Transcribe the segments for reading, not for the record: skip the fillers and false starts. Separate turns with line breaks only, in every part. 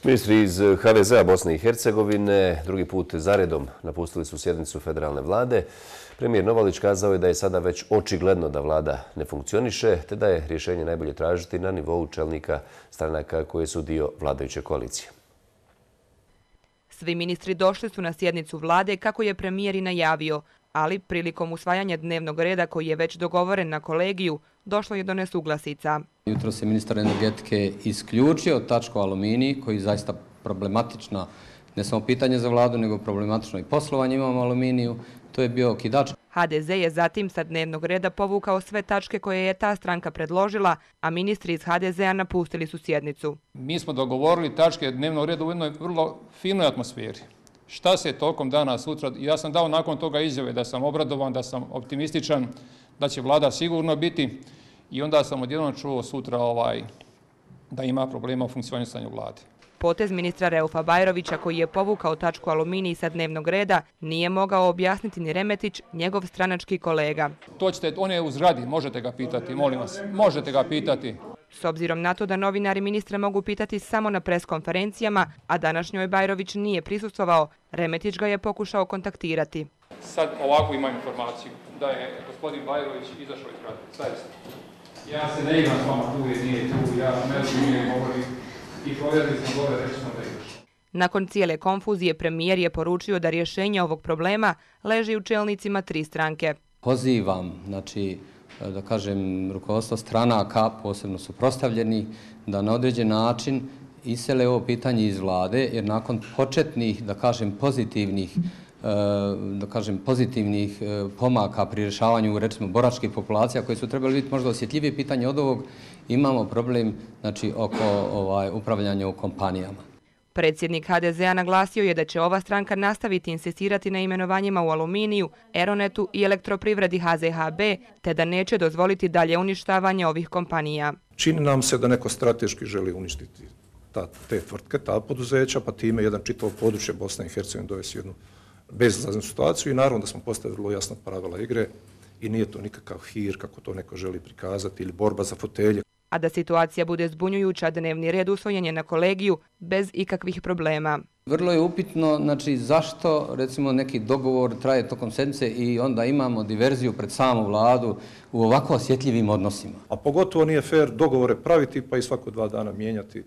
Ministri iz HDZ-a Bosne i Hercegovine drugi put zaredom napustili su sjednicu federalne vlade. Premijer Novalić kazao je da je sada već očigledno da vlada ne funkcioniše, te da je rješenje najbolje tražiti na nivou čelnika stranaka koje su dio vladajuće koalicije.
Svi ministri došli su na sjednicu vlade kako je premijer i najavio, ali prilikom usvajanja dnevnog reda koji je već dogovoren na kolegiju, došlo je do nesuglasica.
Jutro se ministar energetike isključio tačku aluminij, koji je zaista problematična, ne samo pitanje za vladu, nego problematično i poslovanje imamo aluminiju. To je bio okidač.
HDZ je zatim sa dnevnog reda povukao sve tačke koje je ta stranka predložila, a ministri iz HDZ-a napustili su sjednicu.
Mi smo dogovorili tačke dnevnog reda u jednoj vrlo finoj atmosferi. Šta se tokom dana sutra, ja sam dao nakon toga izjave da sam obradovan, da sam optimističan, da će vlada sigurno biti i onda sam odjednom čuo sutra da ima problema u funkcionisanju vlade.
Potez ministra Reufa Bajrovića, koji je povukao tačku aluminij sa dnevnog reda, nije mogao objasniti ni Remetić, njegov stranački kolega.
On je u zgradi, možete ga pitati, molim vas, možete ga pitati.
S obzirom na to da novinari ministra mogu pitati samo na preskonferencijama, a današnjoj Bajrović nije prisustvovao, Remetić ga je pokušao kontaktirati.
Sad ovako imam informaciju da je gospodin Bajrović izašao iz zgrade. Zaista. Ja se ne igram s vama, tu je, nije tu, ja ne govorim i provjerili smo gore, reći smo da izaš.
Nakon cijele konfuzije premijer je poručio da rješenje ovog problema leži u čelnicima tri stranke.
Pozivam, da kažem, rukovodstvo stranaka, posebno suprotstavljeni, da na određen način isele ovo pitanje iz vlade, jer nakon početnih, da kažem, pozitivnih pomaka pri rješavanju, recimo, boračkih populacija, koje su trebali biti možda osjetljivije pitanje od ovog, imamo problem oko upravljanja u kompanijama.
Predsjednik HDZ-a naglasio je da će ova stranka nastaviti insistirati na imenovanjima u Aluminiju, Eronetu i Elektroprivredi HZHB, te da neće dozvoliti dalje uništavanje ovih kompanija.
Čini nam se da neko strateški želi uništiti te tvrtke, ta poduzeća, pa time jedan čitavo područje Bosne i Hercegovine dovesti jednu bezizlaznu situaciju i naravno da smo postavili vrlo jasna pravila igre i nije to nikakav hir kako to neko želi prikazati ili borba za fotelje.
A da situacija bude zbunjujuća, dnevni red usvojen je na kolegiju bez ikakvih problema.
Vrlo je upitno zašto recimo neki dogovor traje tokom sedmice i onda imamo diverziju pred samu vladu u ovako osjetljivim odnosima.
A pogotovo nije fair dogovore praviti pa i svako 2 dana mijenjati.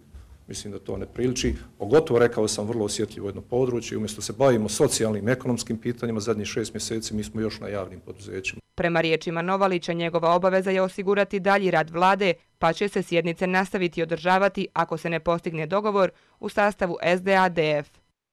Mislim da to ne priliči. Pogotovo, rekao sam, vrlo osjetljivo jedno područje. Umjesto se bavimo socijalnim i ekonomskim pitanjima, zadnjih 6 mjeseci mi smo još na javnim poduzećima.
Prema riječima Novalića, njegova obaveza je osigurati dalji rad vlade, pa će se sjednice nastaviti održavati ako se ne postigne dogovor u sastavu SDA-DF.